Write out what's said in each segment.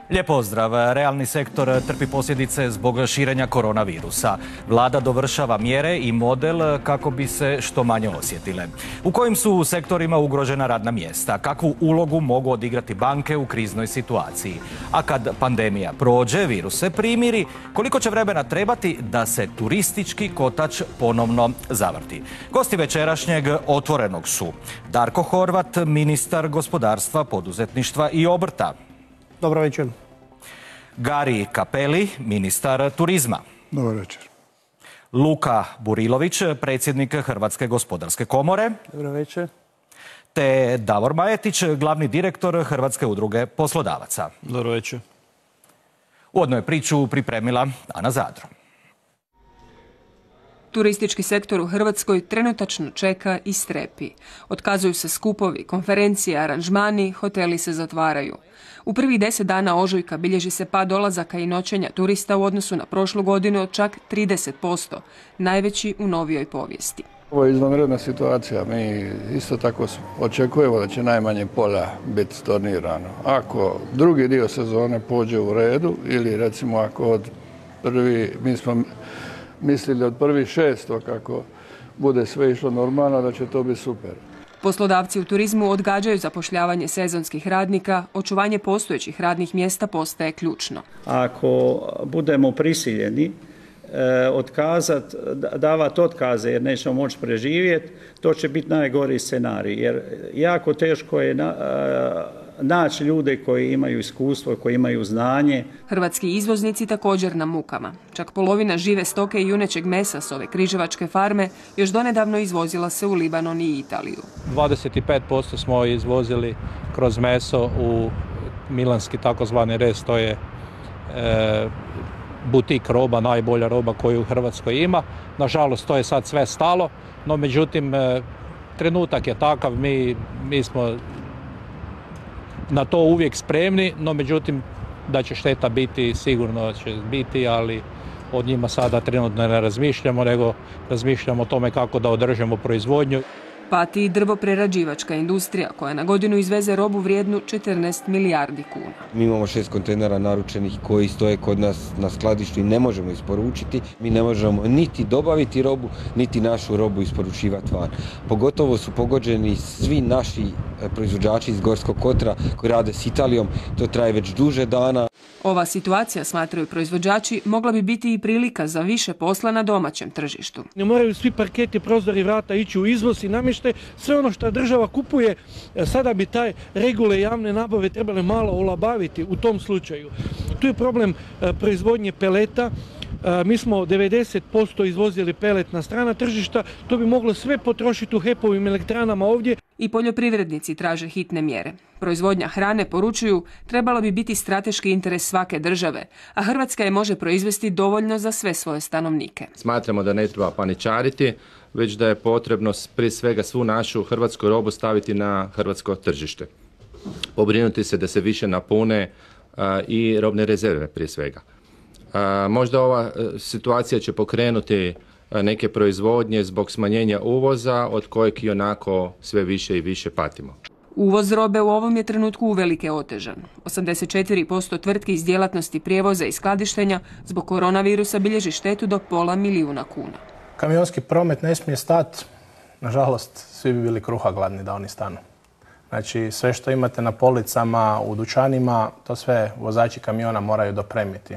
Lijep pozdrav. Realni sektor trpi posljedice zbog širenja koronavirusa. Vlada dovršava mjere i model kako bi se što manje osjetile. U kojim su sektorima ugrožena radna mjesta? Kakvu ulogu mogu odigrati banke u kriznoj situaciji? A kad pandemija prođe, virus se primiri, koliko će vremena trebati da se turistički kotač ponovno zavrti? Gosti večerašnjeg Otvorenog su Darko Horvat, ministar gospodarstva, poduzetništva i obrta. Dobro večer. Gari Cappelli, ministar turizma. Dobar večer. Luka Burilović, predsjednik Hrvatske gospodarske komore. Dobro večer. Te Davor Majetić, glavni direktor Hrvatske udruge poslodavaca. Dobro večer. Uvodno je priču pripremila Ana Zadro. Turistički sektor u Hrvatskoj trenutačno čeka i strepi. Otkazuju se skupovi, konferencije, aranžmani, hoteli se zatvaraju. U prvih 10 dana ožujka bilježi se pad dolazaka i noćenja turista u odnosu na prošlu godinu od čak 30%, najveći u novijoj povijesti. Ovo je izvanredna situacija. Mi isto tako očekujemo da će najmanje pola biti stornirano. Ako drugi dio sezone pođe u redu ili recimo ako mi smo mislili od 1.6. kako bude sve išlo normalno da će to biti super. Poslodavci u turizmu odgađaju zapošljavanje sezonskih radnika, očuvanje postojećih radnih mjesta postaje ključno. Ako budemo prisiljeni davati otkaze jer nećemo moći preživjeti, to će biti najgori scenarij. Jer jako teško je naći ljude koji imaju iskustvo, koji imaju znanje. Hrvatski izvoznici također na mukama. Čak polovina žive stoke i junećeg mesa s ove križevačke farme još donedavno izvozila se u Libanon i Italiju. 25% smo izvozili kroz meso u milanski takozvani rez, to je butik roba, najbolja roba koju u Hrvatskoj ima. Nažalost, to je sad sve stalo, no međutim, trenutak je takav, mi smo na to uvijek spremni, no međutim, da će šteta biti, sigurno će biti, ali od njima sada trenutno ne razmišljamo, nego razmišljamo o tome kako da održimo proizvodnju. Pati i drvoprerađivačka industrija koja na godinu izveze robu vrijednu 14 milijardi kuna. Mi imamo 6 kontejnera naručenih koji stoje kod nas na skladištu i ne možemo isporučiti. Mi ne možemo niti dobaviti robu, niti našu robu isporučivati van. Pogotovo su pogođeni svi naši proizvođači iz Gorskog kotara koji rade s Italijom. To traje već duže dana. Ova situacija, smatraju proizvođači, mogla bi biti i prilika za više posla na domaćem tržištu. Ne moraju svi parketi, prozori, vrata ići u izvoz i namještaj. Sve ono što država kupuje, sada bi taj regule javne nabave trebale malo olabaviti u tom slučaju. Tu je problem proizvodnje peleta. Mi smo 90% izvozili pelet na strana tržišta, to bi moglo sve potrošiti u HEP-ovim elektranama ovdje. I poljoprivrednici traže hitne mjere. Proizvodnja hrane, poručuju, trebalo bi biti strateški interes svake države, a Hrvatska je može proizvesti dovoljno za sve svoje stanovnike. Smatramo da ne treba paničariti, već da je potrebno prije svega svu našu hrvatsku robu staviti na hrvatsko tržište. Pobrinuti se da se više napune i robne rezerve prije svega. Možda ova situacija će pokrenuti neke proizvodnje zbog smanjenja uvoza od kojeg i onako sve više i više patimo. Uvoz robe u ovom je trenutku uvelike otežan. 84% tvrtki iz djelatnosti prijevoza i skladištenja zbog koronavirusa bilježi štetu do $500 000 kuna. Kamionski promet ne smije stati. Nažalost, svi bi bili kruha gladni da oni stanu. Znači, sve što imate na policama, u dućanima, to sve vozači kamiona moraju dopremiti.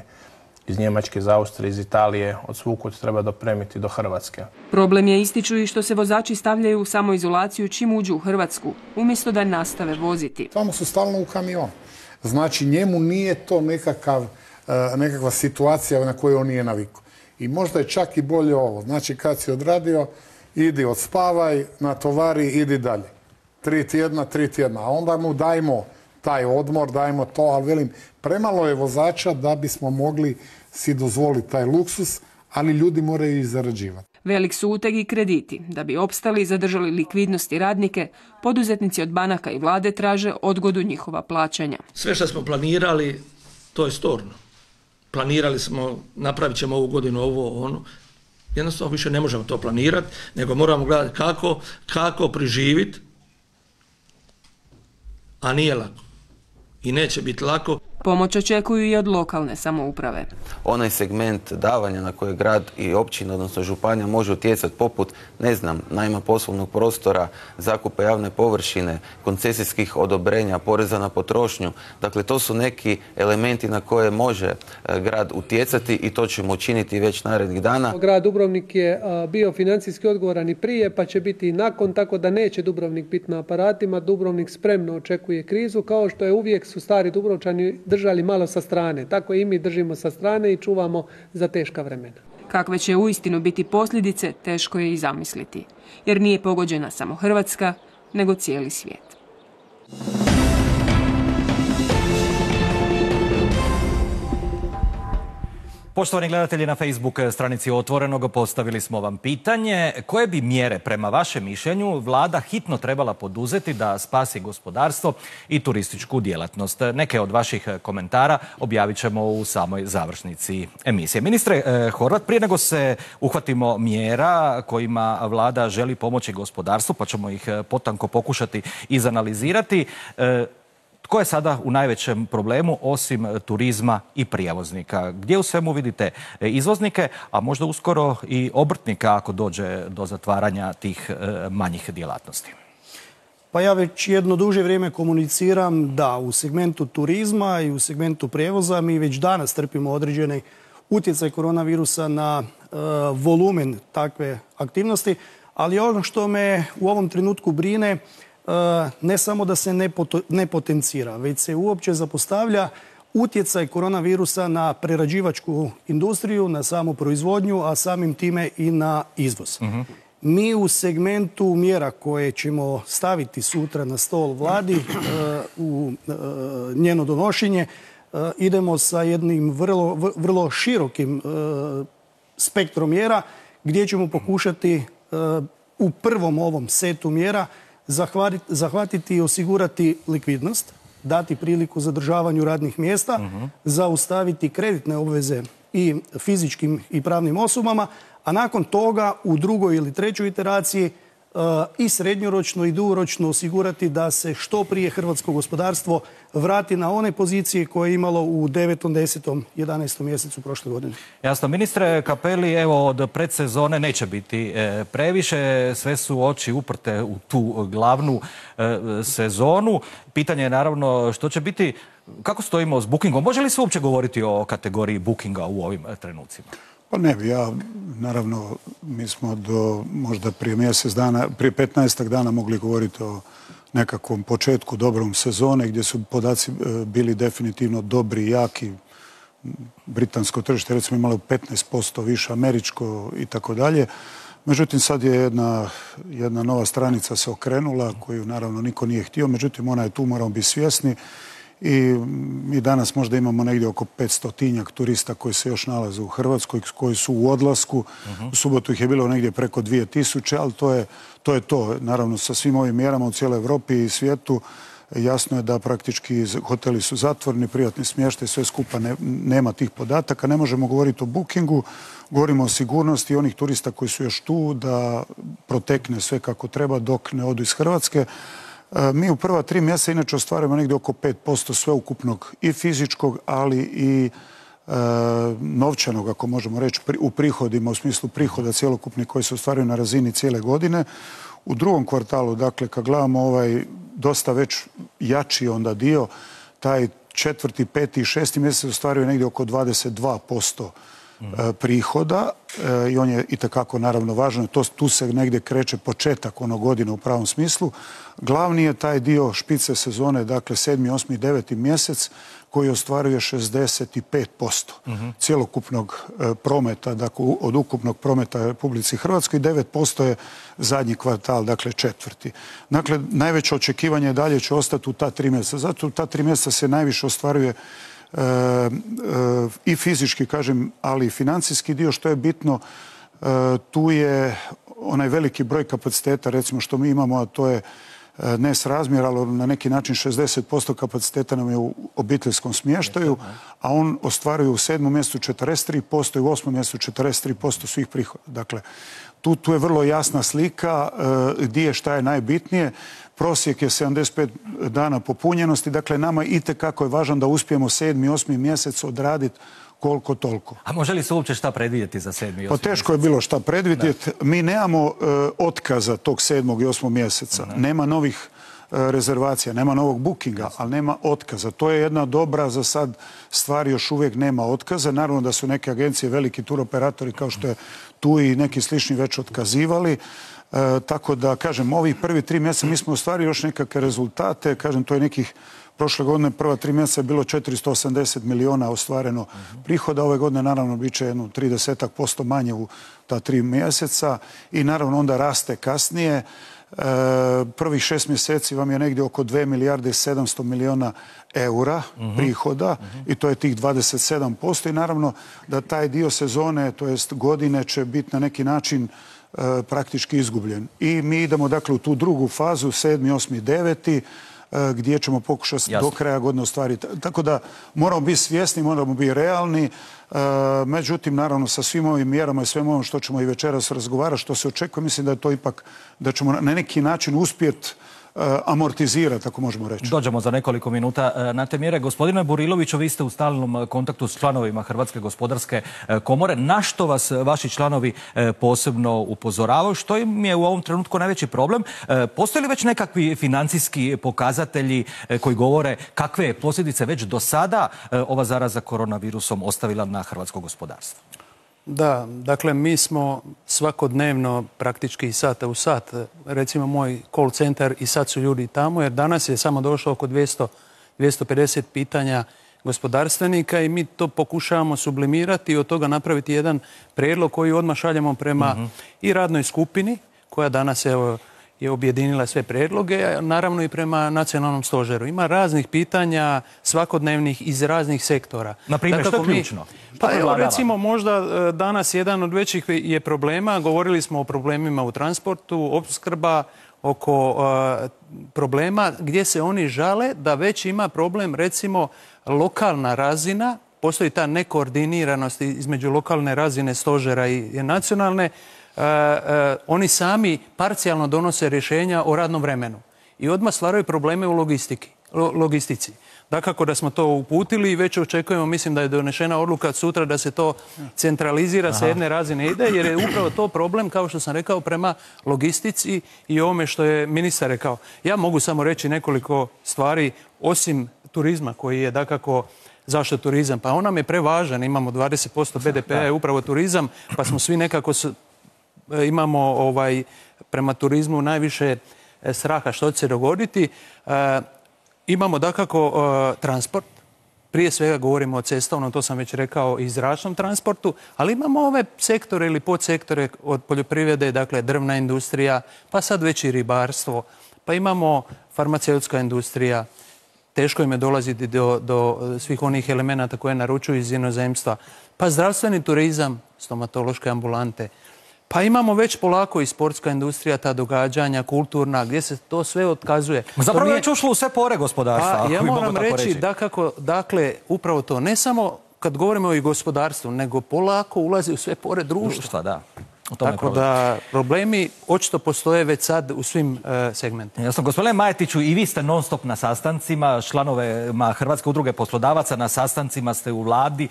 Iz Njemačke, iz Austrije, iz Italije, od svukud treba dopremiti do Hrvatske. Problem je, ističu, i što se vozači stavljaju u samoizolaciju čim uđu u Hrvatsku, umjesto da nastave voziti. Tamo su stalno u kamionu. Znači, njemu nije to nekakva situacija na koju on nije navikao. I možda je čak i bolje ovo. Znači, kad si odradio, idi odspavaj, natovari, idi dalje. 3 tjedna. A onda mu dajmo taj odmor, dajmo to, ali velim, premalo je vozača da bismo mogli si dozvoliti taj luksus, ali ljudi moraju i zarađivati. Velik su uteg i krediti. Da bi opstali i zadržali likvidnost i radnike, poduzetnici od banaka i vlade traže odgodu njihova plaćanja. Sve što smo planirali, to je storno. Planirali smo, napravit ćemo ovu godinu ovo, ono. Jednostavno više ne možemo to planirati, nego moramo gledati kako preživjeti, a nije lako. I neće biti lako. Pomoć očekuju i od lokalne samouprave. Onaj segment davanja na koje grad i općina, odnosno županija, može utjecati poput, najma poslovnog prostora, zakupa javne površine, koncesijskih odobrenja, poreza na potrošnju. Dakle, to su neki elementi na koje može grad utjecati i to ćemo učiniti već narednih dana. Grad Dubrovnik je bio financijski odgovoran i prije, pa će biti i nakon, tako da neće Dubrovnik biti na aparatima. Dubrovnik spremno očekuje krizu, kao što je uvijek su stari Dubrovčani držali malo sa strane. Tako i mi držimo sa strane i čuvamo za teška vremena. Kakve će uistinu biti posljedice, teško je i zamisliti. Jer nije pogođena samo Hrvatska, nego cijeli svijet. Poštovani gledatelji, na Facebook stranici Otvorenog postavili smo vam pitanje koje bi mjere prema vašem mišljenju vlada hitno trebala poduzeti da spasi gospodarstvo i turističku djelatnost. Neke od vaših komentara objavit ćemo u samoj završnici emisije. Ministre Horvat, prije nego se uhvatimo mjera kojima vlada želi pomoći gospodarstvu, pa ćemo ih potanko pokušati izanalizirati, tko je sada u najvećem problemu osim turizma i prijevoznika? Gdje u svemu vidite izvoznike, a možda uskoro i obrtnika ako dođe do zatvaranja tih manjih djelatnosti? Pa ja već jedno duže vrijeme komuniciram da u segmentu turizma i u segmentu prijevoza mi već danas trpimo određeni utjecaj koronavirusa na volumen takve aktivnosti, ali ono što me u ovom trenutku brine, ne samo da se ne potencira, već se uopće zapostavlja utjecaj koronavirusa na prerađivačku industriju, na samu proizvodnju, a samim time i na izvoz. Mi u segmentu mjera koje ćemo staviti sutra na stol vladi u njeno donošenje idemo sa jednim vrlo širokim spektrom mjera gdje ćemo pokušati u prvom ovom setu mjera zahvatiti i osigurati likvidnost, dati priliku zadržavanju radnih mjesta, zaustaviti kreditne obveze i fizičkim i pravnim osobama, a nakon toga u drugoj ili trećoj iteraciji i srednjoročno i dugoročno osigurati da se što prije hrvatsko gospodarstvo vrati na one pozicije koje je imalo u 9., 10., 11. mjesecu prošle godine. Jasno. Ministre Cappelli, evo od predsezone neće biti previše, sve su oči uprte u tu glavnu sezonu. Pitanje je naravno što će biti, kako stojimo s bookingom? Može li se uopće govoriti o kategoriji bookinga u ovim trenucima? Pa ne bi, naravno, mi smo do možda prije mjesec dana, prije 15 dana mogli govoriti o nekakvom početku dobrom sezone gdje su podaci bili definitivno dobri i jaki. Britansko tržište recimo imalo 15% više, američko i tako dalje. Međutim, sad je jedna nova stranica se okrenula koju naravno niko nije htio, međutim ona je tu, moramo biti svjesni. I mi danas možda imamo negdje oko 500-tinjak turista koji se još nalaze u Hrvatskoj, koji su u odlasku. U subotu ih je bilo negdje preko 2000, ali to je to. Naravno, sa svim ovim mjerama u cijeloj Europi i svijetu jasno je da praktički hoteli su zatvoreni, privatni smještaj, sve skupa nema tih podataka. Ne možemo govoriti o bookingu, govorimo o sigurnosti onih turista koji su još tu, da protekne sve kako treba dok ne odu iz Hrvatske. Mi u prva 3 mjeseca inače ostvarujemo negdje oko 5% sveukupnog i fizičkog, ali i novčanog, ako možemo reći, u prihodima, u smislu prihoda cjelokupnih koji se ostvaruju na razini cijele godine. U drugom kvartalu, dakle, kad gledamo ovaj dosta već jači onda dio, taj 4., 5. i 6. mjesec ostvaruje negdje oko 22% prihoda i on je itekako naravno važan. Tu se negdje kreće početak ono godine u pravom smislu. Glavni je taj dio špice sezone, dakle 7., 8. i 9. mjesec koji ostvaruje 65% cjelokupnog prometa, dakle od ukupnog prometa u Republici Hrvatskoj, 9% je zadnji kvartal, dakle 4. Dakle, najveće očekivanje dalje će ostati u ta 3 mjeseca. Zato u ta 3 mjeseca se najviše ostvaruje i fizički, kažem, ali i financijski dio. Što je bitno, tu je onaj veliki broj kapaciteta, recimo što mi imamo, a to je nesrazmjer, ali na neki način 60% kapaciteta nam je u obiteljskom smještaju, a on ostvaruje u 7. mjesecu 43% i u 8. mjesecu 43% svih prihoda. Dakle, Tu je vrlo jasna slika gdje je šta je najbitnije. Prosjek je 75 dana popunjenosti, dakle nama itekako je važno da uspijemo 7. i 8. mjesec odraditi koliko toliko. A može li se uopće šta predvidjeti za 7. i 8. Pa teško je bilo šta predvidjeti. Mi nemamo otkaza tog 7. i 8. mjeseca. Nema novih rezervacija, nema novog bookinga, ali nema otkaza. To je jedna dobra za sad stvar, još uvijek nema otkaza. Naravno da su neke agencije, veliki turoperatori kao što je tu i neki slični već otkazivali. Tako da, kažem, ovih prvi 3 mjeseca mi smo ostvarili još nekakve rezultate. Kažem, to je nekih prošle godine prva 3 mjeseca je bilo 480 milijuna ostvareno prihoda. Ove godine naravno bit će 30% manje u ta 3 mjeseca i naravno onda raste kasnije. Prvih 6 mjeseci vam je negdje oko 2 milijarde i 700 milijuna eura prihoda i to je tih 27% i naravno da taj dio sezone, to jest godine, će biti na neki način praktički izgubljen. I mi idemo dakle u tu drugu fazu, 7., 8., 9. gdje ćemo pokušati do kraja godine ostvariti. Tako da moramo biti svjesni, moramo biti realni. Međutim, naravno, sa svim ovim mjerama i svem ovim što ćemo i večeras razgovarati, što se očekuje, mislim da je to ipak, da ćemo na neki način uspjeti amortizirati, ako možemo reći. Dođemo za nekoliko minuta na te mjere. Gospodine Buriloviću, vi ste u stalnom kontaktu s članovima Hrvatske gospodarske komore. Na što vas vaši članovi posebno upozoravaju? Što im je u ovom trenutku najveći problem? Postoje li već nekakvi financijski pokazatelji koji govore kakve je posljedice već do sada ova zaraza koronavirusom ostavila na hrvatsko gospodarstvo? Da, dakle mi smo svakodnevno praktički iz sata u sat, recimo moj call centar i sad su ljudi tamo jer danas je samo došlo oko 250 pitanja gospodarstvenika i mi to pokušavamo sublimirati i od toga napraviti jedan prijedlog koji odmah šaljemo prema i radnoj skupini koja danas je objedinila sve prijedloge, naravno i prema nacionalnom stožeru. Ima raznih pitanja svakodnevnih iz raznih sektora. Na primjer, što je ključno? Pa evo, recimo, možda danas jedan od većih je problema, govorili smo o problemima u transportu, opskrba, oko problema gdje se oni žale da već ima problem, recimo, lokalna razina, postoji ta nekoordiniranost između lokalne razine stožera i nacionalne, oni sami parcijalno donose rješenja o radnom vremenu i odmah stvaraju probleme u logistici. Dakako da smo to uputili i već očekujemo, mislim da je donešena odluka sutra da se to centralizira sa jedne razine ide, jer je upravo to problem, kao što sam rekao, prema logistici i ovome što je ministar rekao. Ja mogu samo reći nekoliko stvari, osim turizma koji je dakako zašto turizam. Pa on nam je prevažan, imamo 20% BDP-a je upravo turizam, pa smo svi nekako imamo prema turizmu najviše straha što će se dogoditi. Imamo dakako transport, prije svega govorimo o cestovnom, to sam već rekao, i zračnom transportu, ali imamo ove sektore ili podsektore od poljoprivrede, dakle drvna industrija, pa sad već i ribarstvo, pa imamo farmaceutska industrija, teško im je dolaziti do svih onih elemenata koje naručuju iz inozemstva, pa zdravstveni turizam, stomatološke ambulante, pa imamo već polako i sportska industrija, ta događanja, kulturna, gdje se to sve otkazuje. Zapravo je već ušlo u sve pore gospodarstva. Pa ja moram reći da kako, dakle, upravo to, ne samo kad govorimo o gospodarstvu, nego polako ulazi u sve pore društva. Da. Tako da problemi očito postoje već sad u svim segmentima. Jasno, gospodine Majetiću, i vi ste non stop na sastancima, članovima Hrvatske udruge poslodavaca, na sastancima ste u vladi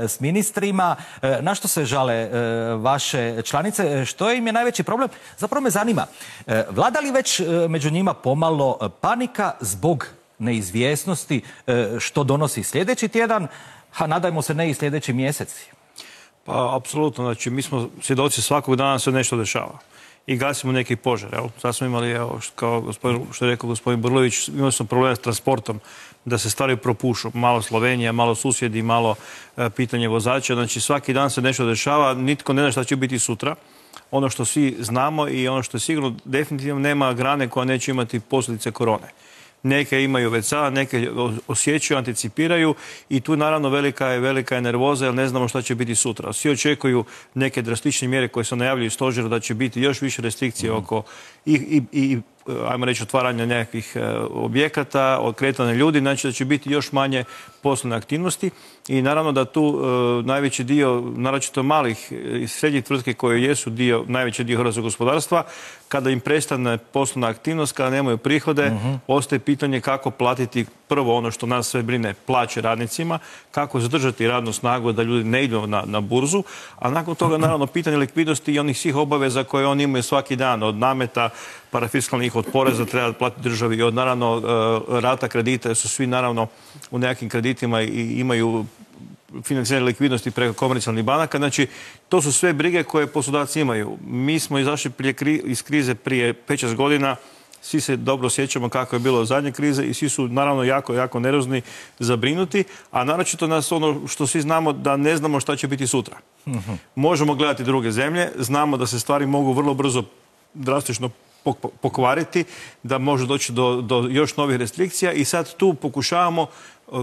s ministrima. Na što se žale vaše članice? Što im je najveći problem? Zapravo me zanima, vlada li već među njima pomalo panika zbog neizvjesnosti što donosi sljedeći tjedan, a nadajmo se ne i sljedeći mjeseci? Pa, apsolutno. Znači, mi smo svjedoci svakog dana se nešto dešava. I gasimo neki požar. Sad smo imali, kao što je rekao gospodin Brlović, imali smo problema s transportom, da se stvari propušu. Malo Slovenija, malo susjedi, malo pitanje vozača. Znači, svaki dan se nešto dešava, nitko ne zna šta će biti sutra. Ono što svi znamo i ono što je sigurno, definitivno nema grane koja neće imati posljedice korone. Neke imaju već sada, neke osjećaju, anticipiraju i tu naravno velika je nervoza jer ne znamo šta će biti sutra. Svi očekuju neke drastične mjere koje se najavljuju stožeru da će biti još više restrikcije oko i ajmo reći, otvaranja nekakvih objekata, od kretanja ljudi, znači da će biti još manje poslovne aktivnosti i naravno da tu najveći dio, naročito malih i srednjih tvrtki koje jesu najveći dio hrvatskog gospodarstva, kada im prestane poslovna aktivnost, kada nemaju prihode, ostaje pitanje kako platiti prvo ono što nas sve brine, plaće radnicima, kako zadržati radnu snagu da ljudi ne idu na burzu, a nakon toga naravno pitanje likvidnosti i onih svih obaveza koje oni imaju svaki dan, od nameta, parafiskalnih, od poreza treba platiti državi i od naravno rata kredita, jer su svi naravno u nekakvim kreditima i imaju financiranje likvidnosti preko komercijalnih banaka. Znači, to su sve brige koje poslodavci imaju. Mi smo izašli iz krize prije 5-6 godina, svi se dobro sjećamo kako je bilo zadnje krize i svi su naravno jako, jako nervozni, zabrinuti, a naročito nas ono što svi znamo da ne znamo šta će biti sutra. Možemo gledati druge zemlje, znamo da se stvari mogu vrlo brzo drastično pokvariti, da može doći do još novih restrikcija i sad tu pokušavamo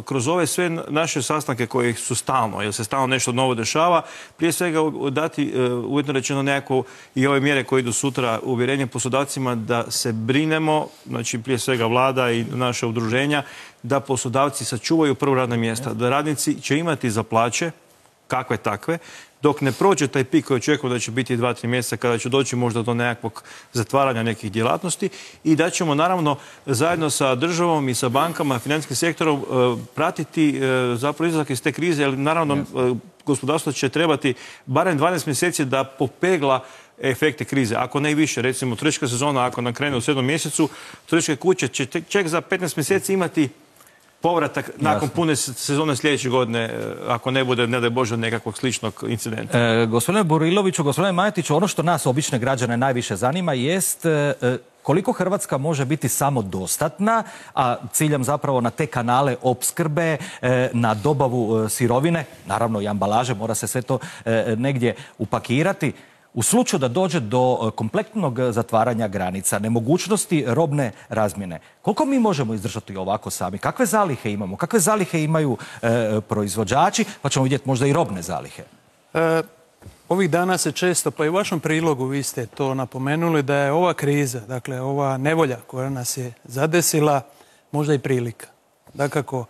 kroz ove sve naše sastanke koji su stalno, jer se stalno nešto novo dešava, prije svega dati uvjetno rečeno nekako i ove mjere koje idu sutra, uvjerenje poslodavcima da se brinemo, znači prije svega vlada i naše udruženja, da poslodavci sačuvaju prvo radna mjesta, da radnici će imati za plaće, kakve takve, dok ne prođe taj pik koji očekujemo da će biti 2-3 mjeseca kada će doći možda do nekakvog zatvaranja nekih djelatnosti i da ćemo naravno zajedno sa državom i sa bankama, financijskim sektorom pratiti zapravo izlazak iz te krize, jer naravno gospodarstvo će trebati barem 12 mjeseci da popegla efekte krize, ako ne i više. Recimo, turistička sezona, ako nam krene u 7. mjesecu, turističke kuće će ček za 15 mjeseci imati povratak nakon pune sezone sljedeće godine, ako ne bude, ne daj Bože, nekakvog sličnog incidenta. Gospodine Buriloviću, gospodine Majetiću, ono što nas, obične građane, najviše zanima jest koliko Hrvatska može biti samodostatna, a ciljam zapravo na te kanale opskrbe, na dobavu sirovine, naravno i ambalaže, mora se sve to negdje upakirati. U slučaju da dođe do kompletnog zatvaranja granica, nemogućnosti robne razmjene, koliko mi možemo izdržati ovako sami? Kakve zalihe imamo? Kakve zalihe imaju proizvođači? Pa ćemo vidjeti možda i robne zalihe. Ovih dana se često, pa i u vašem prilogu vi ste to napomenuli, da je ova kriza, dakle ova nevolja koja nas je zadesila, možda i prilika. Dakako,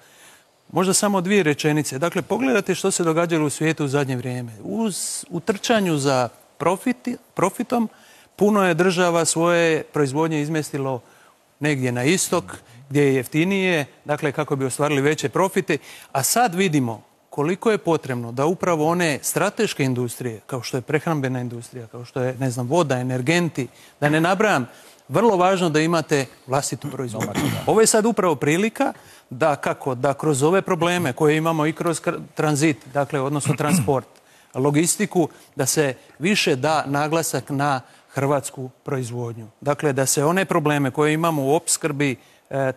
možda samo 2 rečenice. Dakle, pogledajte što se događalo u svijetu u zadnje vrijeme. U trčanju za profitom, puno je država svoje proizvodnje izmjestilo negdje na istok, gdje je jeftinije, dakle kako bi ostvarili veće profite, a sad vidimo koliko je potrebno da upravo one strateške industrije, kao što je prehrambena industrija, kao što je, ne znam, voda, energenti, da ne nabrajam, vrlo važno da imate vlastitu proizvodnju. Ovo je sad upravo prilika da kroz ove probleme koje imamo i kroz tranzit, dakle odnosno transport, logistiku, da se više da naglasak na hrvatsku proizvodnju. Dakle, da se one probleme koje imamo u opskrbi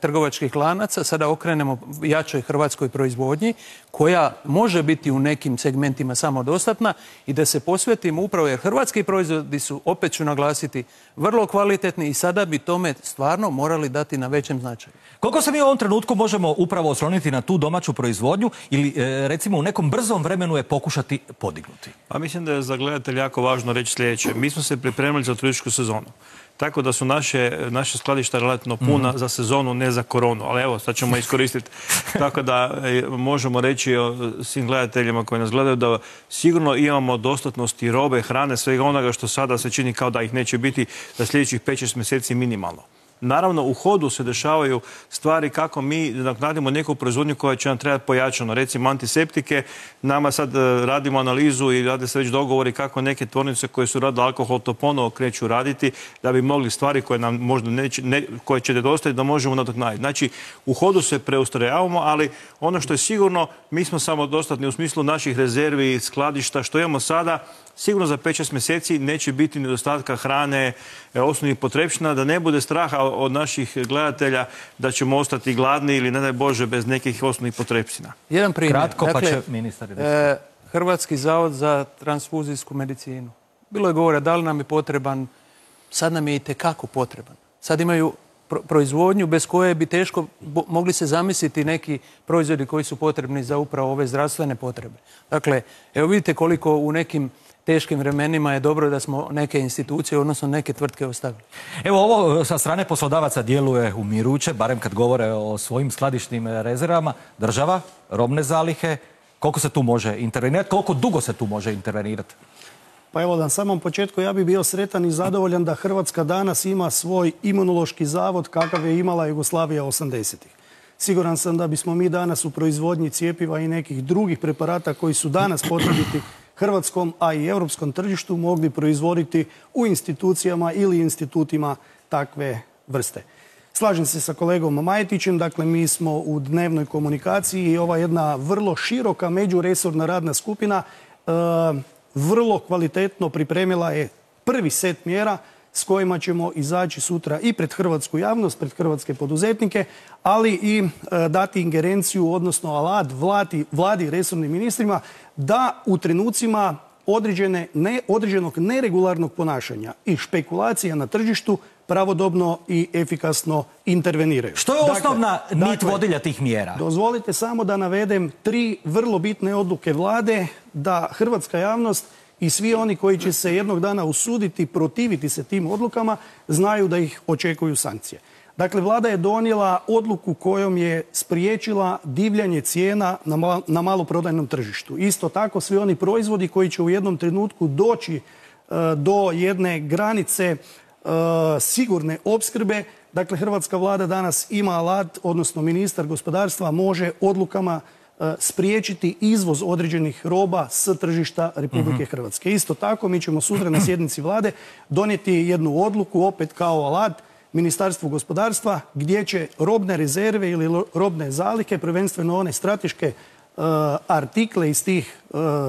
trgovačkih lanaca sada okrenemo jačoj hrvatskoj proizvodnji, koja može biti u nekim segmentima samodostatna i da se posvetimo upravo, jer hrvatski proizvodi su, opet ću naglasiti, vrlo kvalitetni i sada bi tome stvarno morali dati na većem značaju. Koliko se mi u ovom trenutku možemo upravo osloniti na tu domaću proizvodnju ili recimo u nekom brzom vremenu je pokušati podignuti? Pa mislim da je za gledatelj jako važno reći sljedeće. Mi smo se pripremili za turističku sezonu. Tako da su naše skladišta relativno puna za sezonu, ne za koronu. Ali evo, sad ćemo iskoristiti. Tako da možemo reći svim gledateljima koji nas gledaju da sigurno imamo dostatnosti robe, hrane, svega onoga što sada se čini kao da ih neće biti za sljedećih 5-6 mjeseci minimalno. Naravno, u hodu se dešavaju stvari kako mi nadoknadimo neku proizvodnju koja će nam trebati pojačano. Recimo antiseptike, nama sad radimo analizu i rade se već dogovori kako neke tvornice koje su radile alkohol to ponovo kreću raditi da bi mogli stvari koje nam možda koje će nedostajati da možemo nadoknaditi. Znači, u hodu se preustrojavamo, ali ono što je sigurno, mi smo samodostatni u smislu naših rezervi, skladišta, što imamo sada. Sigurno za 5-6 mjeseci neće biti nedostatka hrane, osnovnih potrepština, da ne bude straha od naših gledatelja da ćemo ostati gladni ili, ne daj Bože, bez nekih osnovnih potrepština. Jedan primjer. Kratko, pa će ministar. Hrvatski zavod za transfuzijsku medicinu. Bilo je govora da li nam je potreban, sad nam je itekako potreban. Sad imaju proizvodnju bez koje bi teško mogli se zamisliti neki proizvodi koji su potrebni za upravo ove zdravstvene potrebe. Dakle, evo vidite koliko u nekim teškim vremenima je dobro da smo neke institucije, odnosno neke tvrtke ostavili. Evo, ovo sa strane poslodavaca djeluje umiruće, barem kad govore o svojim skladišnim rezervama. Država, robne zalihe, koliko se tu može intervenirati, koliko dugo se tu može intervenirati? Pa evo, na samom početku ja bih bio sretan i zadovoljan da Hrvatska danas ima svoj imunološki zavod kakav je imala Jugoslavija 80-ih. Siguran sam da bismo mi danas u proizvodnji cjepiva i nekih drugih preparata koji su danas potrebiti hrvatskom, a i europskom tržištu mogli proizvoditi u institucijama ili institutima takve vrste. Slažem se sa kolegom Majetićem, dakle mi smo u dnevnoj komunikaciji i ova jedna vrlo široka međuresorna radna skupina vrlo kvalitetno pripremila je prvi set mjera s kojima ćemo izaći sutra i pred hrvatsku javnost, pred hrvatske poduzetnike, ali i dati ingerenciju, odnosno alat vladi i resornim ministrima da u trenucima određenog neregularnog ponašanja i špekulacija na tržištu pravodobno i efikasno interveniraju. Što je osnovna nit vodilja tih mjera? Dozvolite samo da navedem 3 vrlo bitne odluke vlade da hrvatska javnost i svi oni koji će se jednog dana usuditi protiviti se tim odlukama znaju da ih očekuju sankcije. Dakle, vlada je donijela odluku kojom je spriječila divljanje cijena na maloprodajnom tržištu. Isto tako, svi oni proizvodi koji će u jednom trenutku doći do jedne granice sigurne opskrbe. Dakle, hrvatska vlada danas ima alat, odnosno ministar gospodarstva može odlukama spriječiti izvoz određenih roba s tržišta Republike Hrvatske. Isto tako, mi ćemo sutra na sjednici vlade donijeti jednu odluku, opet kao alat, Ministarstvu gospodarstva, gdje će robne rezerve ili robne zalihe, prvenstveno one strateške artikle iz tih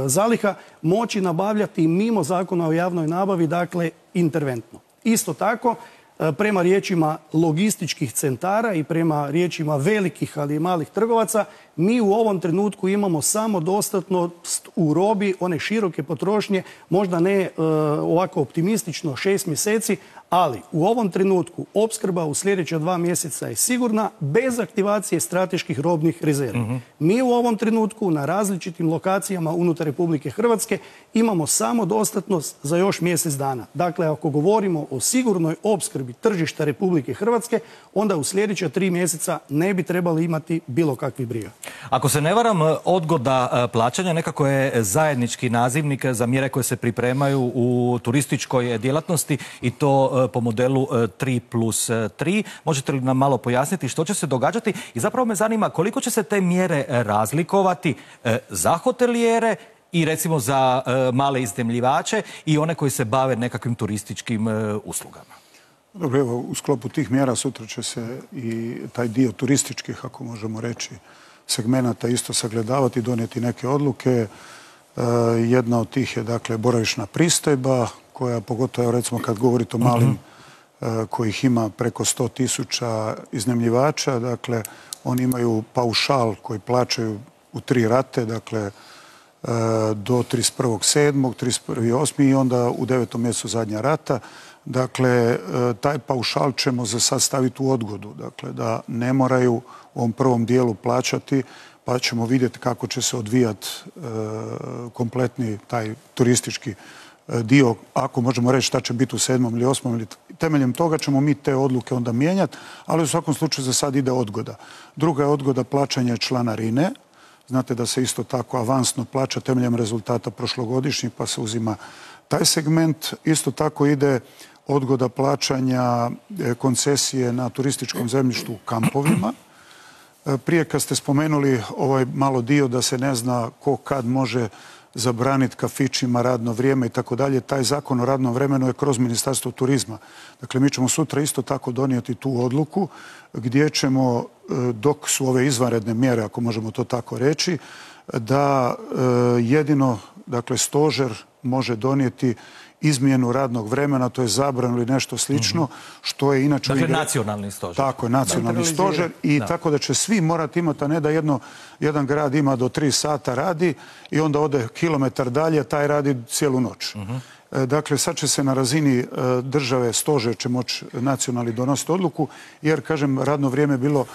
zaliha, moći nabavljati mimo Zakona o javnoj nabavi, dakle interventno. Isto tako, prema riječima logističkih centara i prema riječima velikih, ali i malih trgovaca, mi u ovom trenutku imamo samodostatnost u robi one široke potrošnje, možda ne ovako optimistično 6 mjeseci, ali u ovom trenutku opskrba u sljedeća 2 mjeseca je sigurna bez aktivacije strateških robnih rezervi. Mi u ovom trenutku na različitim lokacijama unutar Republike Hrvatske imamo samodostatnost za još mjesec dana. Dakle, ako govorimo o sigurnoj opskrbi tržišta Republike Hrvatske, onda u sljedeća 3 mjeseca ne bi trebali imati bilo kakvih briga. Ako se ne varam, odgoda plaćanja nekako je zajednički nazivnik za mjere koje se pripremaju u turističkoj djelatnosti i to po modelu 3+3. Možete li nam malo pojasniti što će se događati? I zapravo me zanima koliko će se te mjere razlikovati za hotelijere i recimo za male iznajmljivače i one koji se bave nekakvim turističkim uslugama. Dobro, evo, u sklopu tih mjera sutra će se i taj dio turističkih, ako možemo reći, segmenata isto sagledavati, donijeti neke odluke. Jedna od tih je, dakle, boravišna pristojba, koja pogotovo, recimo, kad govorite o malim kojih ima preko 100.000 iznajmljivača, dakle, oni imaju paušal koji plaćaju u 3 rate, dakle, do 31.7., 31.8. i onda u 9. mjesecu zadnja rata. Dakle, taj paušal ćemo za sad staviti u odgodu, dakle, da ne moraju u ovom prvom dijelu plaćati, pa ćemo vidjeti kako će se odvijati kompletni taj turistički dio, ako možemo reći šta će biti u 7. ili 8. ili temeljem toga ćemo mi te odluke onda mijenjati, ali u svakom slučaju za sad ide odgoda. Druga je odgoda plaćanja članarine. Znate da se isto tako avansno plaća temeljem rezultata prošlogodišnjih, pa se uzima taj segment. Isto tako ide odgoda plaćanja koncesije na turističkom zemljištu u kampovima. Prije kad ste spomenuli ovaj malo dio da se ne zna ko kad može zabraniti kafićima radno vrijeme i tako dalje, taj zakon o radnom vremenu je kroz Ministarstvo turizma. Dakle, mi ćemo sutra isto tako donijeti tu odluku gdje ćemo, dok su ove izvanredne mjere, ako možemo to tako reći, da jedino, dakle, stožer može donijeti izmjenu radnog vremena, to je zabranu ili nešto slično, što je inače... Dakle, nacionalni stožer. Tako je, nacionalni stožer i tako da će svi morati imati, a ne da jedan grad ima do 3 sata radi i onda ode kilometar dalje, taj radi cijelu noć. Dakle, sad će se na razini države, stožer će moći nacionalni donositi odluku, jer, kažem, radno vrijeme bilo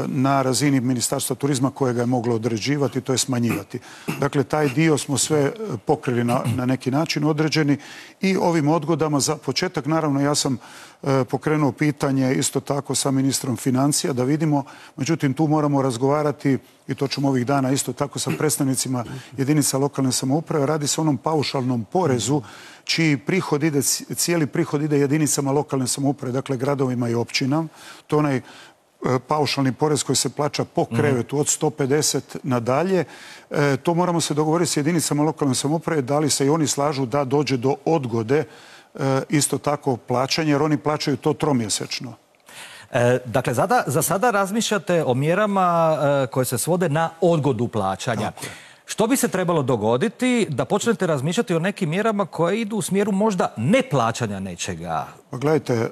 na razini Ministarstva turizma kojega je moglo određivati, to je smanjivati. Dakle, taj dio smo sve pokrili na neki način određeni i ovim odgodama za početak, naravno, ja sam pokrenuo pitanje isto tako sa ministrom financija da vidimo, međutim, tu moramo razgovarati i to ćemo ovih dana isto tako sa predstavnicima jedinica lokalne samouprave. Radi se o onom paušalnom porezu čiji prihod ide, cijeli prihod ide jedinicama lokalne samouprave, dakle gradovima i općinama. To je onaj paušalni porez koji se plaća po krevetu od 150 nadalje. To moramo se dogovoriti s jedinicama lokalne samouprave da li se i oni slažu da dođe do odgode isto tako plaćanja, jer oni plaćaju to tromjesečno. Dakle, za sada razmišljate o mjerama koje se svode na odgodu plaćanja. Što bi se trebalo dogoditi da počnete razmišljati o nekim mjerama koje idu u smjeru možda neplaćanja nečega? Pa gledajte...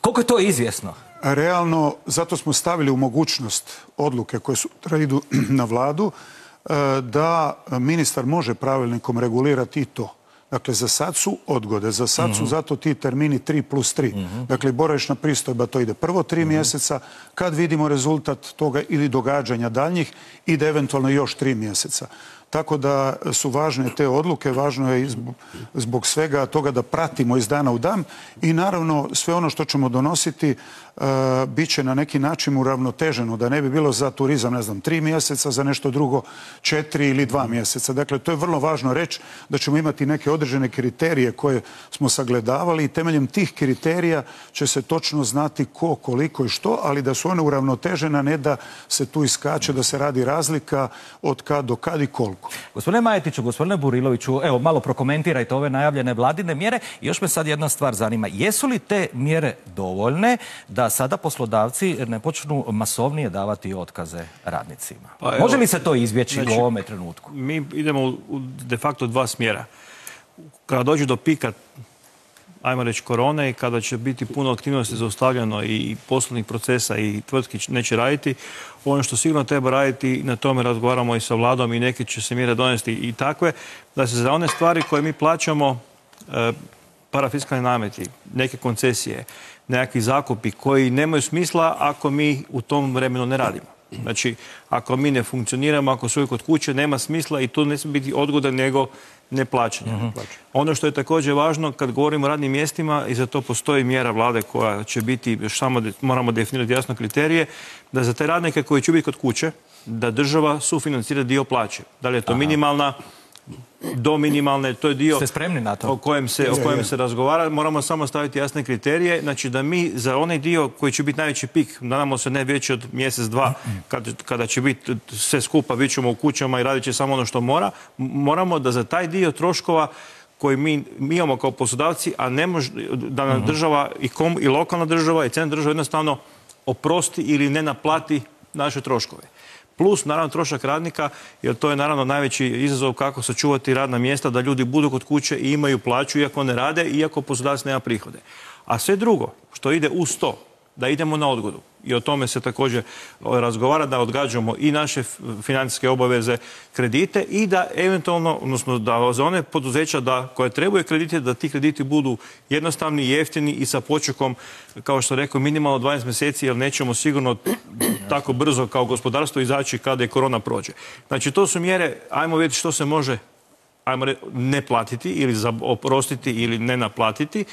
Koliko je to izvjesno? Realno, zato smo stavili u mogućnost odluke koje sutra idu na vladu, da ministar može pravilnikom regulirati i to. Dakle, za sad su odgode, za sad su zato ti termini 3+3. Dakle, boravišna pristojba to ide prvo 3 mjeseca, kad vidimo rezultat toga ili događanja daljnjih, ide eventualno još 3 mjeseca. Tako da su važne te odluke, važno je zbog svega toga da pratimo iz dana u dan i naravno sve ono što ćemo donositi bit će na neki način uravnoteženo, da ne bi bilo za turizam, ne znam, 3 mjeseca, za nešto drugo 4 ili 2 mjeseca. Dakle, to je vrlo važno reći da ćemo imati neke određene kriterije koje smo sagledavali i temeljem tih kriterija će se točno znati ko, koliko i što, ali da su one uravnotežene, ne da se tu iskače, da se radi razlika od kad do kad i koliko. Gospodine Majetiću, gospodine Buriloviću, evo malo prokomentirajte ove najavljene vladine mjere i još me sad jedna stvar zanima. Jesu li te mjere dovoljne da sada poslodavci ne počnu masovnije davati otkaze radnicima? Može li se to izbjeći u ovome trenutku? Mi idemo u de facto 2 smjera. Kada dođe do pika, ajmo reći, korone i kada će biti puno aktivnosti zaustavljeno i poslovnih procesa i tvrtki neće raditi, ono što sigurno treba raditi, na tome razgovaramo i sa vladom i neke će se mjere donesti i takve, da se za one stvari koje mi plaćamo, parafiskalni nameti, neke koncesije, nekakvi zakupi koji nemaju smisla ako mi u tom vremenu ne radimo. Znači, ako mi ne funkcioniramo, ako su kod kuće, nema smisla i to ne smije biti odgoda nego neplaćanje. Ono što je također važno, kad govorimo o radnim mjestima, i za to postoji mjera vlade koja će biti, još samo moramo definirati jasno kriterije, da za te radnike koji će biti kod kuće, da država sufinancira dio plaće. Da li je to minimalna, do minimalne, to je dio o kojem se razgovara. Moramo samo staviti jasne kriterije. Znači da mi za onaj dio koji će biti najveći pik, nadamo se ne veći od mjesec, 2, kada će biti sve skupa, bit ćemo u kućama i radit će samo ono što moramo da za taj dio troškova koji mi imamo kao poslodavci, a ne može da nam država i lokalna država i centralna država jednostavno oprosti ili ne naplati naše troškove. Plus, naravno, trošak radnika, jer to je naravno najveći izazov kako sačuvati radna mjesta, da ljudi budu kod kuće i imaju plaću, iako ne rade, iako poslodavac nema prihode. A sve drugo, što ide uz to, da idemo na odgodu. I o tome se također razgovara, da odgađamo i naše financijske obaveze, kredite i da eventualno, odnosno da za one poduzeća koje trebaju kredite, da ti krediti budu jednostavni, jeftini i sa počekom, kao što rekao, minimalno 12 mjeseci, jer nećemo sigurno tako brzo kao gospodarstvo izaći kada je korona prođe. Znači, to su mjere, ajmo vidjeti što se može ne platiti ili oprostiti ili ne naplatiti.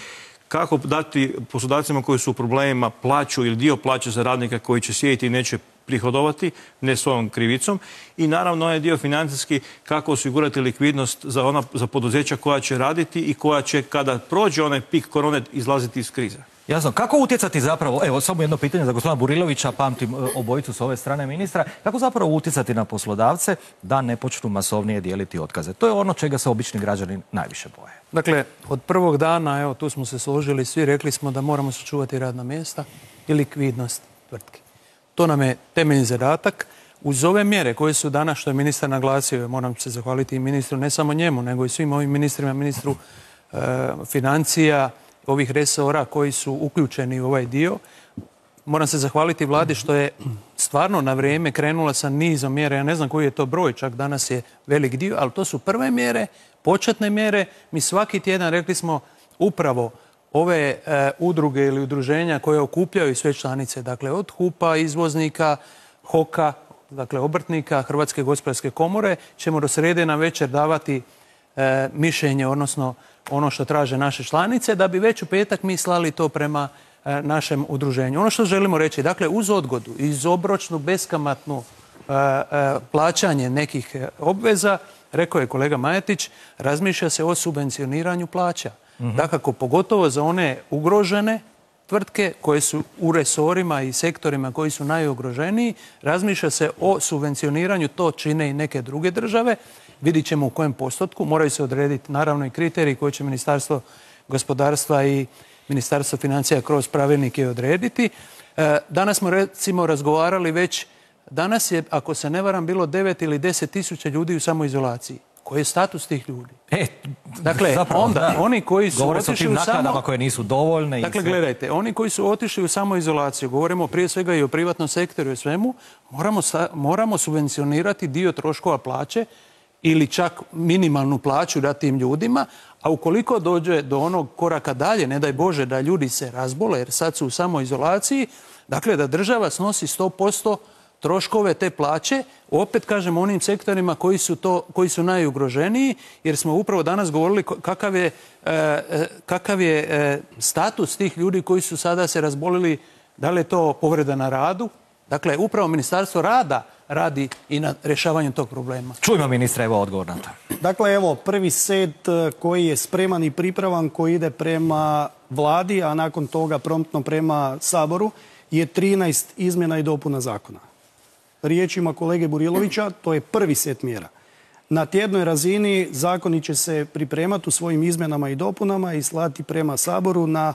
Kako dati poslodavcima koji su u problemima plaću ili dio plaće za radnika koji će sjediti i neće prihodovati, ne svojom krivicom. I naravno onaj dio financijski, kako osigurati likvidnost za poduzeća koja će raditi i koja će, kada prođe onaj pik korone, izlaziti iz krize. Jasno. Kako utjecati zapravo, evo samo jedno pitanje za gospodina Burilovića, pamtim obojicu s ove strane ministra, kako zapravo utjecati na poslodavce da ne počnu masovnije dijeliti otkaze? To je ono čega se obični građani najviše boje. Dakle, od prvog dana, evo tu smo se složili, svi rekli smo da moramo sačuvati radna mjesta i likvidnost tvrtke. To nam je temeljni zadatak. Uz ove mjere koje su danas, što je ministar naglasio, moram se zahvaliti i ministru, ne samo njemu, nego i svim ovim ministrima, ministru financija, ovih resora koji su uključeni u ovaj dio. Moram se zahvaliti vladi što je stvarno na vrijeme krenula sa nizom mjera. Ja ne znam koji je to broj, čak danas je velik dio, ali to su prve mjere. početne mjere. Mi svaki tjedan, rekli smo, upravo ove udruge ili udruženja koje okupljaju sve članice, dakle od HUP-a, izvoznika, HOK-a, dakle obrtnika, Hrvatske gospodarske komore, ćemo do srijede na večer davati mišljenje, odnosno ono što traže naše članice, da bi već u petak mi slali to prema našem udruženju. Ono što želimo reći, dakle uz odgodu, iz obročnu, beskamatnu plaćanje nekih obveza, rekao je kolega Majetić, razmišlja se o subvencioniranju plaća. Dakako, pogotovo za one ugrožene tvrtke koje su u resorima i sektorima koji su najugroženiji, razmišlja se o subvencioniranju, to čine i neke druge države. Vidit ćemo u kojem postotku, moraju se odrediti naravno i kriteriji koje će Ministarstvo gospodarstva i Ministarstvo financija kroz pravilnike odrediti. Danas smo recimo razgovarali već, danas je, ako se ne varam, bilo 9 ili 10 tisuća ljudi u samoizolaciji. Koji je status tih ljudi? Dakle, zapravo, onda oni koji su govore se o otišli tim u naknadama koje nisu dovoljne. Dakle, gledajte, oni koji su otišli u samoizolaciju, govorimo prije svega i o privatnom sektoru i svemu, moramo subvencionirati dio troškova plaće ili čak minimalnu plaću dati tim ljudima, a ukoliko dođe do onog koraka dalje, ne daj Bože da ljudi se razbole jer sad su u samoizolaciji, dakle da država snosi 100% troškove te plaće, opet kažem onim sektorima koji su najugroženiji, jer smo upravo danas govorili kakav je status tih ljudi koji su sada se razbolili, da li je to povreda na radu. Dakle, upravo Ministarstvo rada radi i na rješavanju tog problema. Čujmo ministra, evo odgovor na to. Dakle, evo, prvi set koji je spreman i pripravan, koji ide prema vladi, a nakon toga promptno prema Saboru, je 13 izmjena i dopuna zakona. Riječima kolege Burilovića, to je prvi set mjera. Na tjednoj razini zakoni će se pripremati u svojim izmjenama i dopunama i slati prema Saboru na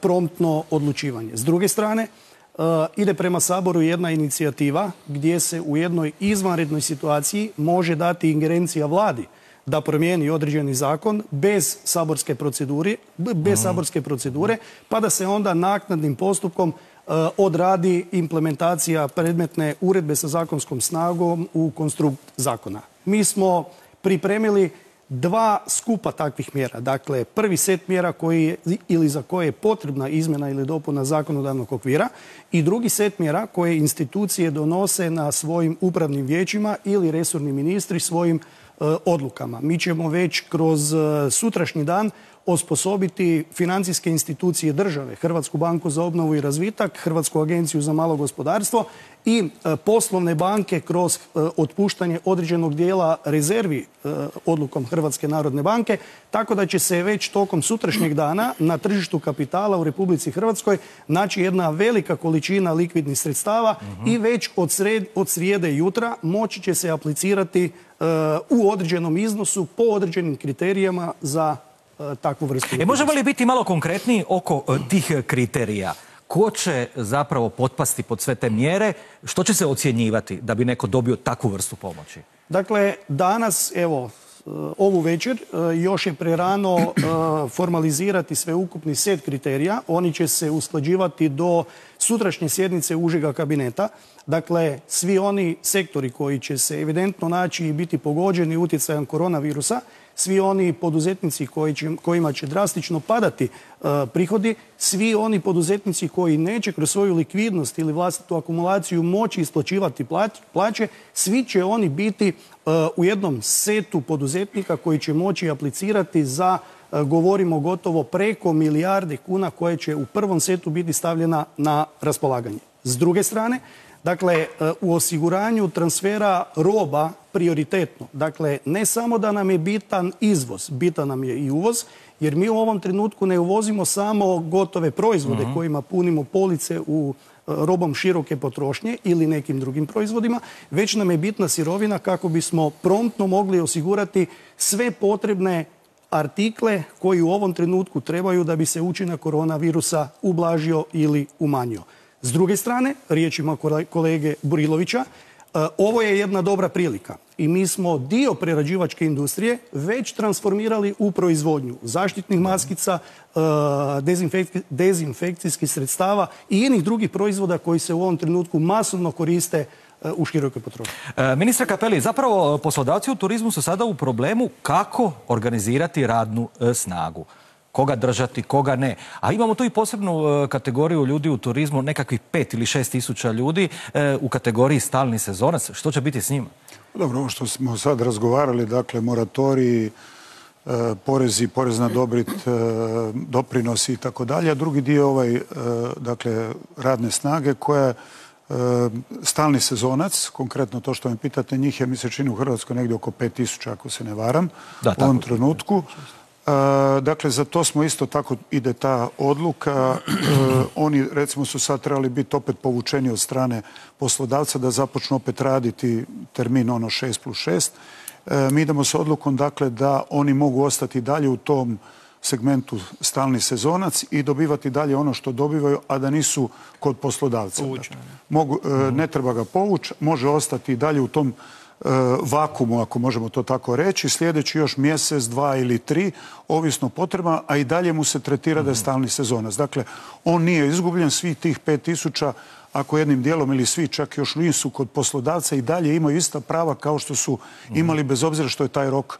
promptno odlučivanje. S druge strane, ide prema Saboru jedna inicijativa gdje se u jednoj izvanrednoj situaciji može dati ingerencija vladi da promijeni određeni zakon bez saborske procedure, pa da se onda naknadnim postupkom odradi implementacija predmetne uredbe sa zakonskom snagom u konstrukt zakona. Mi smo pripremili 2 skupa takvih mjera. Dakle, prvi set mjera za koje je potrebna izmjena ili dopuna zakonodavnog okvira i drugi set mjera koje institucije donose na svojim upravnim vijećima ili resorni ministri svojim odlukama. Mi ćemo već kroz sutrašnji dan osposobiti financijske institucije države, Hrvatsku banku za obnovu i razvitak, Hrvatsku agenciju za malo gospodarstvo i poslovne banke kroz otpuštanje određenog dijela rezervi odlukom Hrvatske narodne banke, tako da će se već tokom sutrašnjeg dana na tržištu kapitala u Republici Hrvatskoj naći jedna velika količina likvidnih sredstava i već od srijede jutra moći će se aplicirati u određenom iznosu po određenim kriterijama za takvu vrstu. Možemo li biti malo konkretniji oko tih kriterija? Ko će zapravo potpasti pod sve te mjere? Što će se ocjenjivati da bi neko dobio takvu vrstu pomoći? Dakle, danas, evo, ovu večer još je prerano formalizirati sveukupni set kriterija. Oni će se usklađivati do sutrašnje sjednice užega kabineta. Dakle, svi oni sektori koji će se evidentno naći i biti pogođeni utjecajem koronavirusa, svi oni poduzetnici kojima će drastično padati prihodi, svi oni poduzetnici koji neće kroz svoju likvidnost ili vlastitu akumulaciju moći isplaćivati plaće, svi će oni biti u jednom setu poduzetnika koji će moći aplicirati za, govorimo gotovo preko milijarde kuna koje će u prvom setu biti stavljena na raspolaganje. S druge strane, dakle, u osiguranju transfera roba prioritetno. Dakle, ne samo da nam je bitan izvoz, bitan nam je i uvoz, jer mi u ovom trenutku ne uvozimo samo gotove proizvode kojima punimo police u robom široke potrošnje ili nekim drugim proizvodima, već nam je bitna sirovina kako bismo promptno mogli osigurati sve potrebne artikle koji u ovom trenutku trebaju da bi se učinak koronavirusa ublažio ili umanjio. S druge strane, riječima kolege Burilovića, ovo je jedna dobra prilika i mi smo dio prerađivačke industrije već transformirali u proizvodnju zaštitnih maskica, dezinfekcijskih sredstava i inih drugih proizvoda koji se u ovom trenutku masovno koriste u širokoj potrošnji. Ministre Cappelli, zapravo poslodavci u turizmu su sada u problemu kako organizirati radnu snagu. Koga držati, koga ne. A imamo tu i posebnu kategoriju ljudi u turizmu, nekakvih 5 ili 6 tisuća ljudi u kategoriji stalni sezonac. Što će biti s njima? Dobro, ovo što smo sad razgovarali, dakle, moratoriji, porezi, porez na dobit, doprinosi i tako dalje, a drugi dio dakle, radne snage koja je stalni sezonac, konkretno to što me pitate, njih je, mi se čini u Hrvatskoj negdje oko 5000, ako se ne varam, u ovom trenutku. Dakle, za to smo isto tako, ide ta odluka. Oni, recimo, su sad trebali biti opet povučeni od strane poslodavca da započnu opet raditi termin 6+6. Mi idemo s odlukom, dakle, da oni mogu ostati dalje u tom segmentu stalni sezonac i dobivati dalje ono što dobivaju, a da nisu kod poslodavca. Ne treba ga povući, može ostati dalje u tom vakumu, ako možemo to tako reći, sljedeći još mjesec, 2 ili 3, ovisno potreba, a i dalje mu se tretira da je stalni sezonac. Dakle, on nije izgubljen, svih tih 5000, ako jednim dijelom ili svi čak još nisu kod poslodavca, i dalje imaju ista prava kao što su imali, bez obzira što je taj rok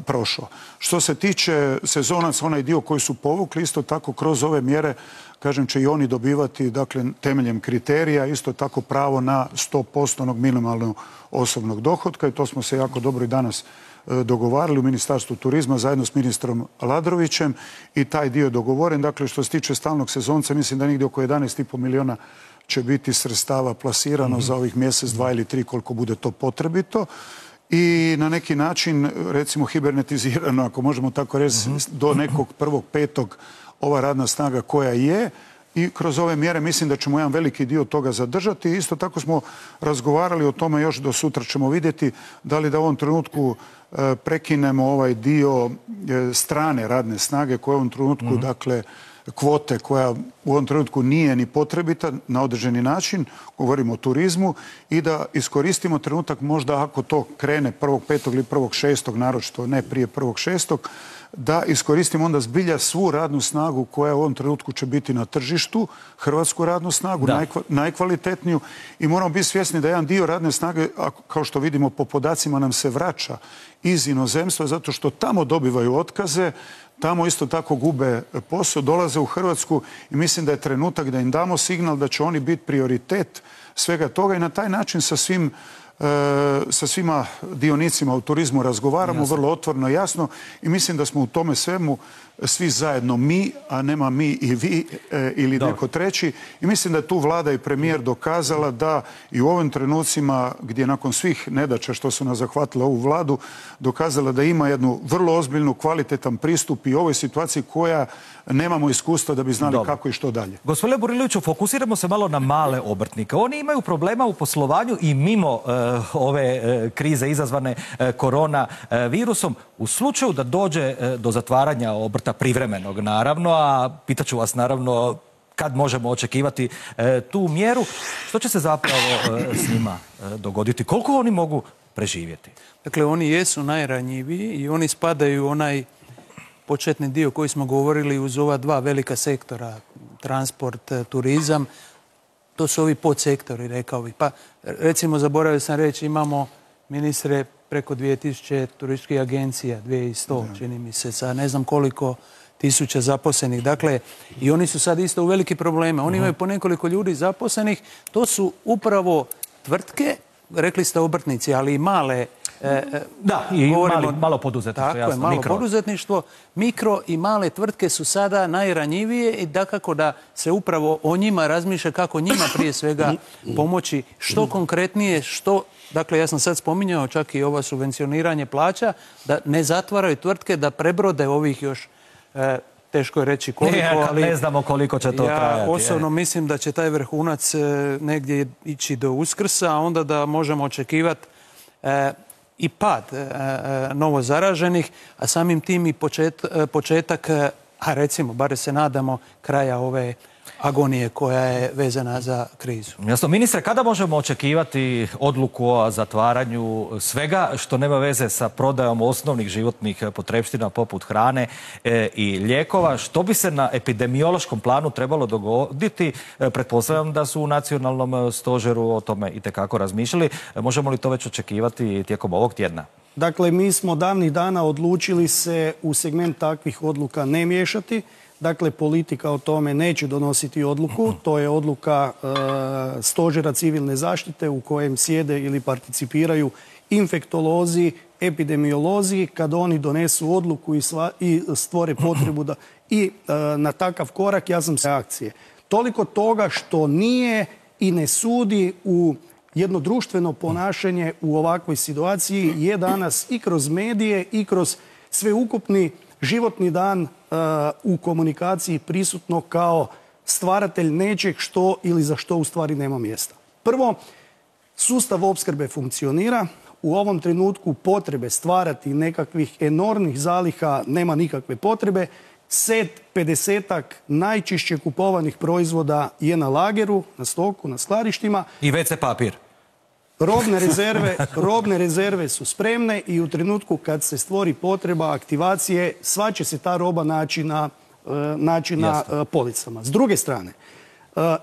prošao. Što se tiče sezonaca, onaj dio koji su povukli, isto tako kroz ove mjere, kažem, će i oni dobivati, dakle, temeljem kriterija, isto tako pravo na 100% minimalnog osobnog dohotka, i to smo se jako dobro i danas dogovarali u Ministarstvu turizma zajedno s ministrom Aladrovićem, i taj dio je dogovoren. Dakle, što se tiče stalnog sezonca, mislim da negdje oko 11,5 milijuna će biti sredstava plasirano za ovih mjesec, 2 ili 3, koliko bude to potrebito. I na neki način, recimo, hibernetizirano, ako možemo tako reći, do nekog 1.5. ova radna snaga koja je, i kroz ove mjere mislim da ćemo jedan veliki dio toga zadržati. Isto tako smo razgovarali o tome, još do sutra ćemo vidjeti da li da u ovom trenutku prekinemo ovaj dio strane radne snage koja u ovom trenutku, dakle, kvote koja u ovom trenutku nije ni potrebita na određeni način, govorimo o turizmu, i da iskoristimo trenutak, možda ako to krene 1.5. ili 1.6., naročito ne prije 1.6., da iskoristimo onda zbilja svu radnu snagu koja u ovom trenutku će biti na tržištu, hrvatsku radnu snagu, najkvalitetniju, i moramo biti svjesni da jedan dio radne snage, kao što vidimo po podacima, nam se vraća iz inozemstva zato što tamo dobivaju otkaze, tamo isto tako gube posao, dolaze u Hrvatsku, i mislim da je trenutak da im damo signal da će oni biti prioritet svega toga, i na taj način sa svima dionicima u turizmu razgovaramo vrlo otvoreno i jasno, i mislim da smo u tome svemu svi zajedno mi, a nema mi i vi ili neko treći, i mislim da je tu vlada i premijer dokazala da i u ovim trenucima gdje nakon svih nedaća što su nas zahvatile ovu vladu, dokazala da ima jednu vrlo ozbiljnu, kvalitetan pristup i ovoj situaciji koja nemamo iskustva da bi znali kako i što dalje. Gospodine Buriloviću, fokusiramo se malo na male obrtnike. Oni imaju problema u poslovanju i mimo ove krize izazvane korona virusom. U slučaju da dođe do zatvaranja obrta privremenog, naravno, a pitaću vas naravno kad možemo očekivati tu mjeru, što će se zapravo s njima dogoditi? Koliko oni mogu preživjeti? Dakle, oni jesu najranjiviji i oni spadaju u onaj početni dio koji smo govorili uz ova dva velika sektora, transport, turizam. To su ovi podsektori, rekao bih. Pa, recimo, zaboravio sam reći, imamo, ministre, preko 2000 turističkih agencija, 2100, čini mi se, sa ne znam koliko tisuća zaposlenih. Dakle, i oni su sad isto u veliki probleme. Oni imaju po nekoliko ljudi zaposlenih. To su upravo tvrtke, rekli ste obrtnici, ali i male... Da, i malo poduzetništvo, tako je, malo poduzetništvo. Mikro i male tvrtke su sada najranjivije i dakako da se upravo o njima razmišlja kako njima prije svega pomoći što konkretnije, što... Dakle, ja sam sad spominjao čak i ovo subvencioniranje plaća, da ne zatvaraju tvrtke, da prebrode ovih još, teško je reći koliko, ali... Ne znamo koliko će to trajati. Ja osobno mislim da će taj vrhunac negdje ići do Uskrsa, a onda da možemo očekivati i pad novo zaraženih, a samim tim i početak, a recimo, bare se nadamo, kraja ove agonije koja je vezana za krizu. Jasno, ministre, kada možemo očekivati odluku o zatvaranju svega što nema veze sa prodajom osnovnih životnih potrepština poput hrane i lijekova? Što bi se na epidemiološkom planu trebalo dogoditi? Pretpostavljam da su u nacionalnom stožeru o tome itekako razmišljali. Možemo li to već očekivati tijekom ovog tjedna? Dakle, mi smo davnih dana odlučili se u segment takvih odluka ne miješati. Dakle, politika o tome neće donositi odluku. To je odluka Stožera civilne zaštite u kojem sjede ili participiraju infektolozi, epidemiolozi. Kad oni donesu odluku i stvore potrebu da i na takav korak, ja sam reakcije. Toliko toga što nije i ne sudi u jedno društveno ponašanje u ovakvoj situaciji je danas i kroz medije i kroz sveukupni životni dan u komunikaciji prisutno kao stvaratelj nečeg što ili za što u stvari nema mjesta. Prvo, sustav opskrbe funkcionira. U ovom trenutku potrebe stvarati nekakvih enormnih zaliha nema nikakve potrebe. Set 50-ak najčešće kupovanih proizvoda je na lageru, na stoku, na skladištima. I WC papir. Robne rezerve su spremne i u trenutku kad se stvori potreba aktivacije, sva će se ta roba naći na policama. S druge strane,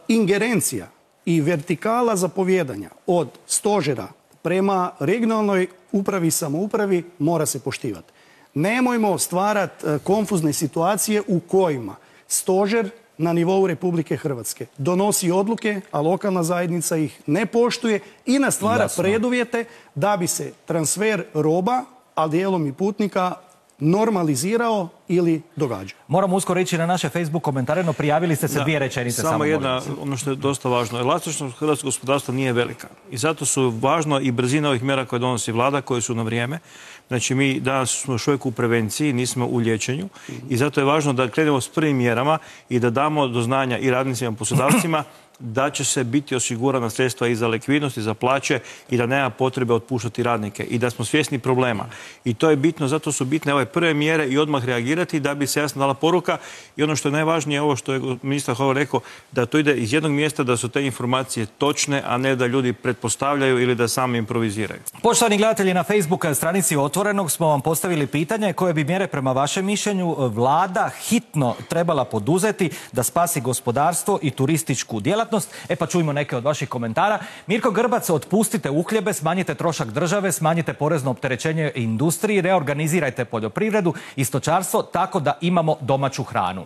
ingerencija i vertikala zapovijedanja od stožera prema regionalnoj upravi i samoupravi mora se poštivati. Nemojmo stvarati konfuzne situacije u kojima stožer na nivou Republike Hrvatske donosi odluke, a lokalna zajednica ih ne poštuje i nastvara preduvjete da bi se transfer roba, a dijelom i putnika, normalizirao ili događao. Moramo uskoro ići na naše Facebook komentare, no prijavili ste se dvije rečenice. Samo jedna, ono što je dosta važno. Elastičnost hrvatskog gospodarstva nije velika. I zato su važno i brzina ovih mjera koje donosi vlada, koje su na vrijeme. Znači, mi danas smo još uvijek u prevenciji, nismo u liječenju i zato je važno da krenemo s prvim mjerama i da damo do znanja i radnicima i poslodavcima da će se biti osigurana sredstva i za likvidnost i za plaće i da nema potrebe otpuštati radnike i da smo svjesni problema. I to je bitno, zato su bitne ove prve mjere i odmah reagirati da bi se jasno dala poruka. I ono što je najvažnije, ovo što je ministar Horvat rekao, da to ide iz jednog mjesta, da su te informacije točne, a ne da ljudi pretpostavljaju ili da sami improviziraju. Poštovani gledatelji, na Facebook stranici Otvorenog smo vam postavili pitanje koje bi mjere prema vašem mišljenju vlada hitno trebala poduzeti da spasi gospodarstvo i turističku djelatnost. Pa čujmo neke od vaših komentara. Mirko Grbac, otpustite uhljebe, smanjite trošak države, smanjite porezno opterećenje industriji, reorganizirajte poljoprivredu i stočarstvo tako da imamo domaću hranu.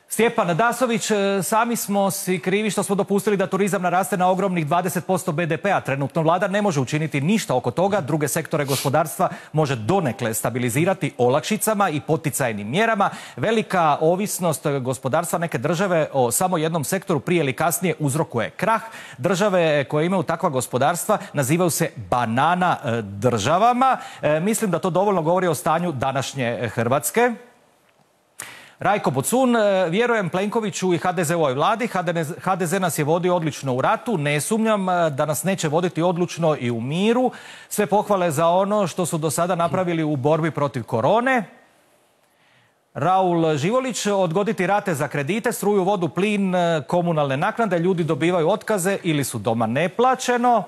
Stjepan Dasović, sami smo si krivi što smo dopustili da turizam naraste na ogromnih 20% BDP-a. Trenutno vlada ne može učiniti ništa oko toga. Druge sektore gospodarstva može donekle stabilizirati olakšicama i poticajnim mjerama. Velika ovisnost gospodarstva neke države o samo jednom sektoru prije ili kasnije uzrokuje krah. Države koje imaju takva gospodarstva nazivaju se banana državama. Mislim da to dovoljno govori o stanju današnje Hrvatske. Rajko Bocun, vjerujem Plenkoviću i HDZ-ovoj vladi. HDZ nas je vodio odlično u ratu. Ne sumnjam da nas neće voditi odlučno i u miru. Sve pohvale za ono što su do sada napravili u borbi protiv korone. Raul Živolić, odgoditi rate za kredite, struju, vodu, plin, komunalne naknade. Ljudi dobivaju otkaze ili su doma neplaćeno.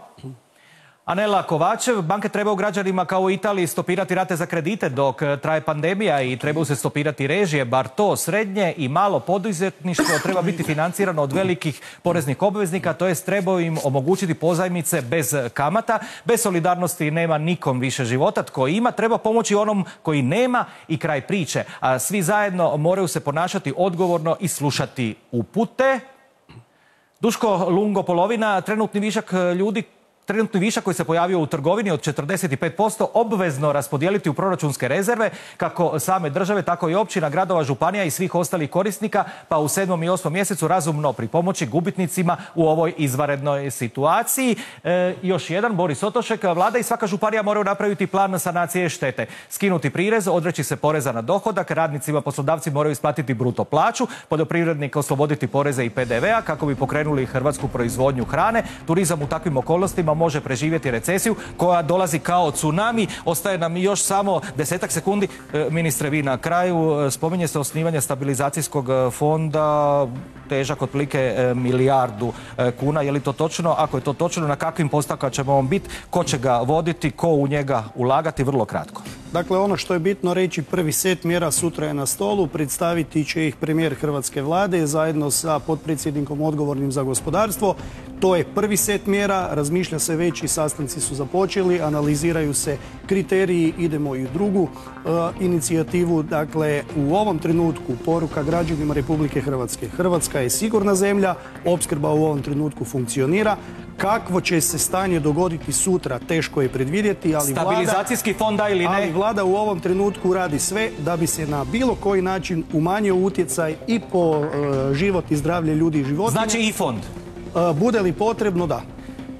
Anela Kovačev, banke trebaju građanima kao u Italiji stopirati rate za kredite dok traje pandemija i trebaju se stopirati režije, bar to srednje i malo poduzetništvo treba biti financirano od velikih poreznih obveznika, to jest trebaju im omogućiti pozajmice bez kamata. Bez solidarnosti nema nikom više života. Tko ima, treba pomoći onom koji nema i kraj priče. A svi zajedno moraju se ponašati odgovorno i slušati upute. Duško Lungo Polovina, trenutni višak koji se pojavio u trgovini od 45% obvezno raspodijeliti u proračunske rezerve kako same države, tako i općina, gradova, županija i svih ostalih korisnika, pa u 7. i 8. mjesecu razumno pripomoći gubitnicima u ovoj izvanrednoj situaciji. Još jedan, Boris Otošek, vlada i svaka županija moraju napraviti plan sanacije štete. Skinuti prirez, odreći se poreza na dohodak, radnicima, poslodavci moraju isplatiti bruto plaću, poljoprivrednika osloboditi poreze i PDV-a kako bi pokrenuli hrvatsku proizvodnju hrane. Turizam u takvim okolnostima može preživjeti recesiju koja dolazi kao tsunami. Ostaje nam još samo 10 sekundi. Ministre, vi na kraju spominje se osnivanje stabilizacijskog fonda težak otprilike 1 milijardu kuna. Je li to točno? Ako je to točno, na kakvim postavkama ćemo on biti? Ko će ga voditi? Ko u njega ulagati? Vrlo kratko. Dakle, ono što je bitno reći, prvi set mjera sutra je na stolu, predstaviti će ih premijer Hrvatske vlade zajedno sa potpredsjednikom odgovornim za gospodarstvo. To je prvi set mjera, razmišlja se već i sastanci su započeli, analiziraju se kriteriji, idemo i u drugu inicijativu. Dakle, u ovom trenutku poruka građanima Republike Hrvatske. Hrvatska je sigurna zemlja, opskrba u ovom trenutku funkcionira. Kakvo će se stanje dogoditi sutra, teško je predvidjeti, ali stabilizacijski fond ili ne? Ali vlada u ovom trenutku radi sve da bi se na bilo koji način umanjio utjecaj i po život i zdravlje ljudi i životinja. Znači i fond? Bude li potrebno, da.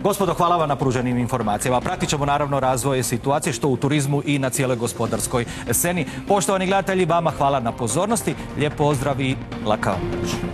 Gospodo, hvala vam na pruženim informacijama. Pratit ćemo naravno razvoj situacije što u turizmu i na cijeloj gospodarskoj sceni. Poštovani gledatelji, vama hvala na pozornosti. Lijep pozdrav i laka noć.